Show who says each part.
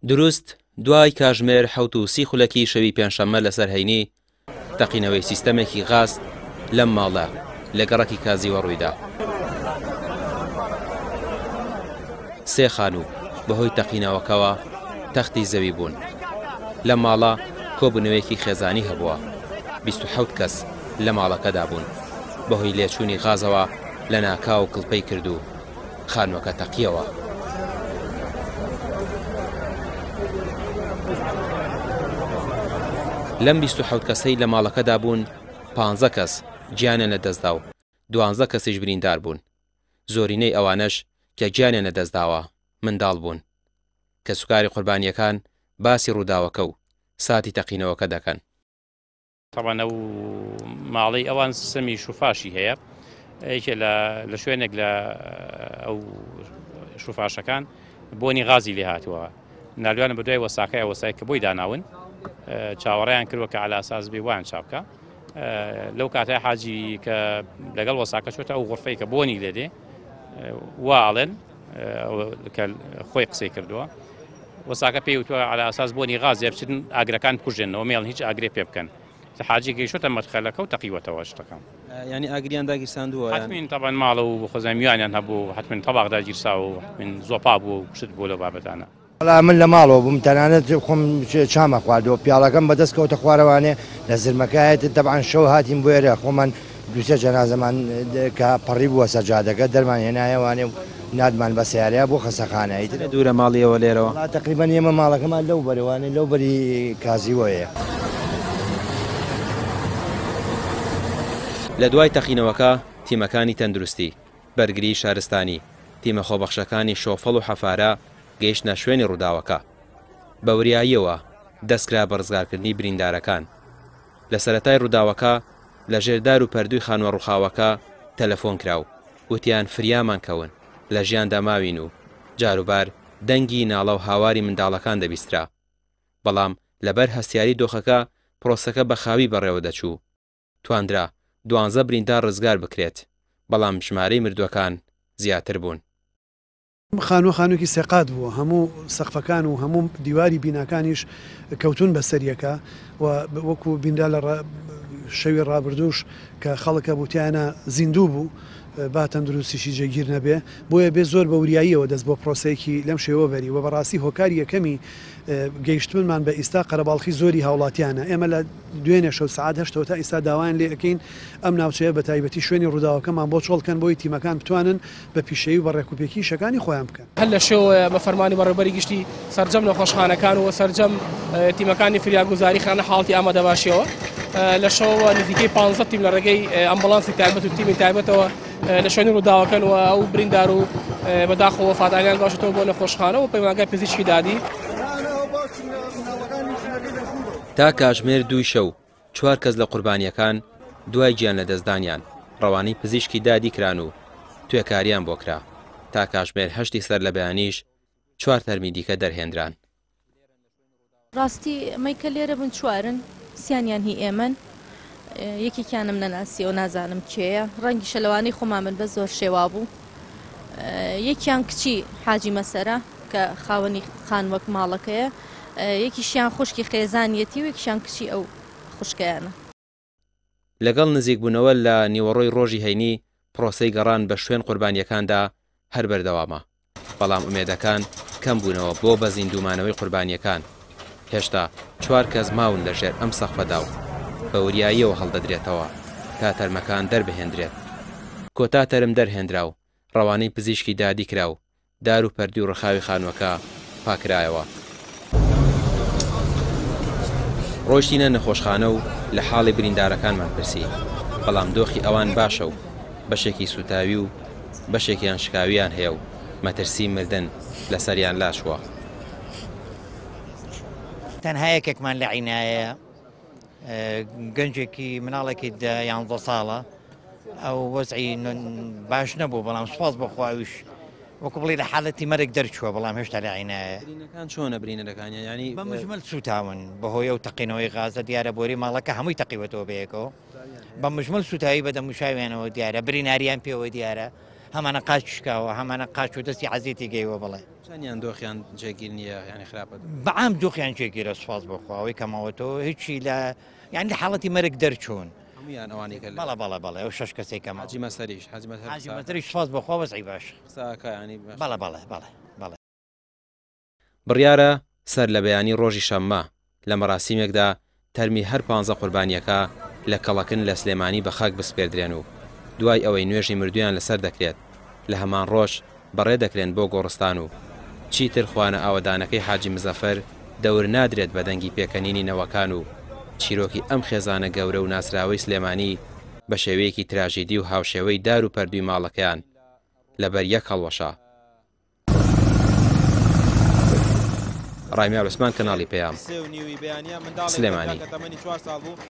Speaker 1: دروست دوای کاژمێر 7:30 خولەکی شەوی پێنجشەممە لەسەر هەینی، تەقینەوەی سیستەمێکی غاز لەم ماڵە لە گەڕەکی کازیوە ڕوویدا. سێ خانوو بەهۆی تەقینەوەکەوە تەختی زەوی بوون. لەم ماڵە کۆبوونەوەیەکی خێزانی هەبووە، 27 کەس لە ماڵەکەدا بوون. بەهۆی لێچوونی غازەوە لەناکاو کڵپەی کرد و خانووەکە تەقیەوە. لەم 27 کەسەی لە ماڵەکەدا بوون، 15 کەس گیانیان لەدەستدا و 12 کەسیش بریندار بوون. زۆرینەی ئەوانەش کە گیانیان لەدەستداوە منداڵ بوون. کەسوکاری قوربانییەکان باسی ڕووداوەکە و ساتی تەقینەوەکە دەکەن.
Speaker 2: تەبعەن ئەو ماڵەی ئەوان سیستەمی شوفاشی هەیە یەکێ لە لە شوێنێک لە ئەو شوفاشەکان بۆنی غازی لێ هاتووە نالوانە بە دوای وەساکەی وەسای کە بۆی داناون چاوەڕیان کردوە کە علاساس بێ وان چاپکە لەو کاتای حاجی کە لەگەڵ وەساکە چۆتە ئەو غرفەی کە بۆنی لێ دێ وا ئەڵێن کە خۆی قسەی کردووە وەساکە پێی وتووە عەلا ئەساس بۆنی غازێ بچن ئاگرەکان بکوژێنەوە مێڵن هیچ ئاگرێ پێ بکەن حاجی گەیشتە مەدخەلەکە و تەقیوەتەوە شتەکە.
Speaker 1: یانی ئاگریان داگیرساندووە یان؟
Speaker 2: حەتمین تەبعەن ماڵە و خۆزای میوانیان هەبوو حەتمین تەباخ داگیرساوە و حەتمین زۆپا بووە و شت بووە لەو بابەتانە.
Speaker 3: وەڵا من لە ماڵەوە بووم تەنانەت خۆم چام ئەخواردەوە پیاڵەکەم بەدەست کەوتە خوارەوانێ لە زرمەکایەت تەبعەن شەو هاتین بۆ ئێرە خۆمان دووسێ جەنازەمان کە پەڕی بووە سەر جادەکە دەرمان هێنایەوانێ و ناردمان بە سەیارەیا بۆ خەسەخانە ئیتر
Speaker 1: چەندە دوورە ماڵی ئێوە لێرەوە؟
Speaker 3: وەڵا تەقریبەن ئێمە ماڵەکەمان لەو بەرەوانێ لەو بەری کازیوەیە.
Speaker 1: لە دوای تەقینەوەکە تیمەکانی تەندروستی، بەرگریی شارستانی، تیمە خۆبەخشەکانی شۆفەڵ و حەفارە گەیشتنە شوێنی ڕووداوەکە. بە وریاییەوە دەستکرا بە ڕزگارکردنی بریندارەکان. لە سەرەتای ڕووداوەکە لە ژێر دار و پەردووی خانووە ڕووخاوەکە تەلەفۆن کرا و وتیان فریامان کەون، لە ژیاندا ماوین و جاروبار دەنگی ناڵە و هاواری منداڵەکان دەبیسترا. بەڵام لەبەر هەستیاری دۆخەکە پرۆسەکە بە خاوی بەڕێوە دەچوو. تواندرا دوانزە بریندار ڕزگار بکرێت، بەڵام ژمارەی مردووەکان زیاتر بوون.
Speaker 4: ئەم خانووە خانووێکی سێقات بووە، هەموو سەقفەکان و هەموو دیواری بیناکانیش کەوتوون بە سەریەکا و وەکو بینرا لە شەوی ڕابردووش کە خەڵک هەبوو تیایانا زیندوو بوو با تەندروستیشی جێگیر نەبێ، بۆیە بێ زۆر بە وریاییەوە دەست بۆ پرۆسەیەکی لەم شێوە بەری و بەڕاستی هۆکاری یەکەمی گەیشتنمان بە ئیستا قەرەباڵخی زۆری هاوڵاتیانە ئێمە لە دوێنێ شەو سەعات هەشتەوە تا ئیستا داوایان لێ ئەکەین ئەم ناوچەیە بە تایبەتی شوێنی ڕووداوەکەمان بۆ چۆڵ کەن بۆی تیمەکان بتوانن بە پیشەیی و بە ڕێکوپێکی ئیشەکانی خۆیان بکەن.
Speaker 5: هەر لە شەوەوە بە فەرمانی بەڕێوەبەری گشتی سەرجەم نەخۆشخانەکان و سەرجەم تیمەکانی فریاگوزاری خرانە حاڵەتی ئامادەباشیەوە. لە شەوەوە نزیکەی 15 تیم لە ڕێگەی ئەمبولانسی تایبەت و تیمی تایبەتەوە لە شوێنی ڕووداوەکەن و ئەو بریندار و بەداخەوە وەفاتانیان گواستەوە بۆ نەخۆشخانە و پەیمانگای پزیشکی دادی.
Speaker 1: تا کاژمێر دووی شەو چوار کەس لە قوربانییەکان دوای گیانلەدەستدانیان ڕەوانەی پزیشکی دادی کران و توێکاریان بۆ کرا، تا کاژمێر هەشتی سەرلەبەیانیش چوار تەرمی دیکە دەرهێنران.
Speaker 6: ڕاستی ئەمەی کە لێرە بن چوارن، سیانیان هی ئێمەن، یەکێکیانم نەناسیەوە نازانم کێیە، ڕەنگیشە لەوانەی خۆمان بن بەس زۆر شێوا بوو. یەکیان کچی حاجی مەسەرە کە خاوەنی خانووەک ماڵەکەیە، یەکیشیان خوشکی خێزانیەتی و یەکیشیان کچی ئەو خوشکەیانە.
Speaker 1: لەگەڵ نزیکبوونەوە لە نیوەڕۆی ڕۆژی هەینی، پرۆسەی گەڕان بە شوێن قوربانییەکاندا هەر بەردەوامە، بەڵام ئومێدەکان کەمبوونەوە بۆ بە زیندوومانەوەی قوربانییەکان، هێشتا چوار کەس ماون لە ژێر ئەم سەقفەدا و بە وریاییەوە هەڵدەدرێتەوە تا تەرمەکان دەربهێندرێت. کۆتا تەرم دەرهێنرا و ڕەوانەی پزیشکی دادی کرا و دار و پەردی و ڕخاوی خانووەکە پاکرایەوە. ڕۆیشتینە نەخۆشخانە و لە حاڵی بریندارەکانمان پرسی، بەڵام دۆخی ئەوان باشە و بەشێکی سووتاوی و بەشێکیان شکاوییان هەیە و مەترسیی مردن لەسەریان لاچووە.
Speaker 7: تەنها یەکێکمان لە عینایەیە، گەنجێکی مناڵێکی دە یانزە ساڵە، ئەو وەزعی باش نەبوو، بەڵام سوپاس بۆ خوا ئەویش وەکو بڵێی لە حالەتی مەرگ دەرچووە، بەڵام هێشتا لە عینایە.
Speaker 1: برینەکان چۆنە برینەکانیان یانی؟
Speaker 7: بە مجمل سووتاون بەهۆی ئەو تەقینەوەی غازە، دیارە بۆری ماڵەکە هەمووی تەقیوەتەوە بەیەکەوە، بە مجمل سووتاوی بە دەموچاویانەوە دیارە، بریناریان پێوە دیارە، هەمانە قاچ شکاوە، هەمانە قاچ و دەستی عەزیەتی گەیوە بەڵێ.
Speaker 1: چەندیان دۆخیان جێگیر نییە یانی خراپە؟
Speaker 7: بەعام دۆخیان جێگیرە سوپاس بۆ خوا ئەوەی کە ماوەتەوە هیچی لە یانی لە حاڵەتی مەرگ دەرچوون.
Speaker 1: هەموویان ئەوانەی کە
Speaker 7: بەڵێ بەڵێ بەڵێ ئەو شەش کەسەی کە
Speaker 1: حاجی مەسەریش حاجی مەسەر
Speaker 7: حاجی مەسەریش سوپاس بۆ خوا وەزعی باشە.
Speaker 1: قسە ئەکا یانی باشە.
Speaker 7: بەڵێ بەڵێ بەڵێ بەڵێ.
Speaker 1: بڕیارە سەر لە بەیانی ڕۆژی شەممە لە مەراسیمێکدا تەرمی هەر پانزە قوربانییەکە لە کەڵەکن لە سلێمانی بە خاک بسپێردرێن و دوای ئەوەی نوێژی مردوویان لەسەر دەکرێت لە هەمان ڕۆژ بەڕێ دەکرێن بۆ گۆڕستان و چیتر خوانە ئاوەدانەکەی حاجی مزەفەر دەور نادرێت بە دەنگی پێکەنینی نەوەکان و چیرۆکی ئەم خێزانە گەورە و ناسراوەی سلێمانی بە شێوەیەکی تراژیدی و هاوشێوەی دار و پەردووی ماڵەکەیان لەبەر یەک هەڵوەشا. ڕامیار عوسمان کەناڵی پەیام، سلێمانی.